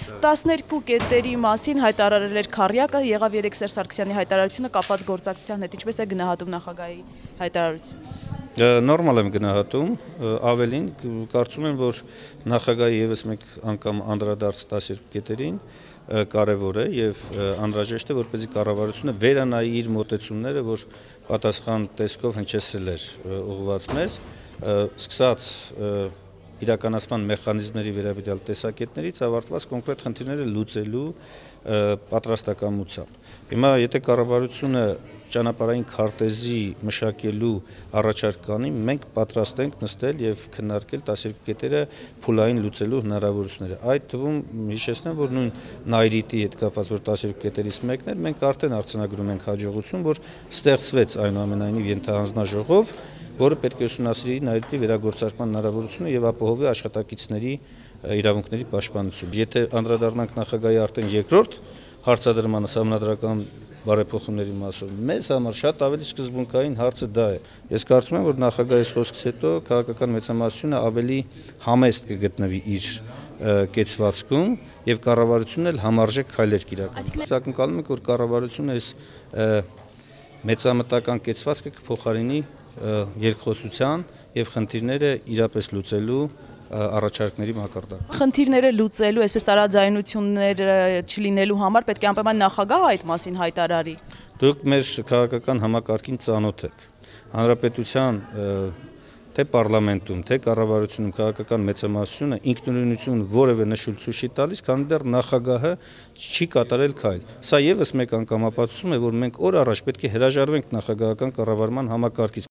12 կետերի մասին հայտարարել էր Քառյակը, եղավ երեք Սերժ Սարգսյանի հայտարարությունը կապված գործակցության հետ, ինչպես է գնահատում նախագահի հայտարարությունը։ Նորմալ եմ գնահատում, ավելին կարծում եմ, որ նախագահի ևս մեկ անգամ անդրադարձ 12 կետերին կարևոր է եւ անհրաժեշտ է, որպեսզի կառավարությունը վերանայի իր մոտեցումները, որ պատասխան տեսքով հնչեցրել էր ուղղված մեզ, սկսած իրականացման մեխանիզմների վերաբերյալ տեսակետներից ավարտված կոնկրետ խնդիրները լուծելու պատրաստակամությամբ։ Հիմա եթե կառավարությունը ճանապարհային քարտեզի մշակելու առաջարկ կանի, մենք պատրաստ ենք նստել եւ քննարկել 12 կետերը փուլային լուծելու հնարավորությունները։ Այդ թվում հիշեցնեմ, որ նույն Նայրիտի հետ կապված որ 12 կետերից մեկն էր, մենք արդեն արձանագրում ենք հաջողություն, որ ստեղծվեց այնուամենայնիվ ենթահանձնաժողով, որը պետք է ուսումնասիրի Նայրիտի վերագործարկման հնարավորությունը եւ ապահովի աշխատակիցների իրավունքների պաշտպանությունը։ Եթե անդրադառնանք նախագահի արդեն երկրորդ հարցադրմանը սահմանադրական բարեփոխումների մասով, մեզ համար շատ ավելի սկզբունքային հարցը դա է։ Ես կարծում եմ, որ նախագահի խոսքից հետո քաղաքական մեծամասնությունը ավելի համեստ կգտնվի իր կեցվածքում եւ կառավարությունն էլ համարժեք քայլեր կիրականացնի։ Ակնկալում ենք, որ կառավարությունը այս մեծամտական կեցվածքը կփոխարինի երկխոսության եւ խնդիրները իրապես լուծելու առաջարկների մակարդակ։ Խնդիրները լուծելու, այսպես տարաձայնություններ չլինելու համար պետք է անպայման նախագահը այդ մասին հայտարարի։ Դուք մեր քաղաքական համակարգին ծանոթ եք։ Հանրապետության թե պարլամենտում, թե կառավարությունում քաղաքական մեծամասնությունը ինքնուրույնություն որևէ նշույլ ցույց չի տալիս, քանի դեռ նախագահը չի կատարել քայլ։ Սա եւս մեկ անգամ ապացուցում է, որ մենք օր առաջ պետք է հրաժարվենք նախագահական կառավարման համակարգից։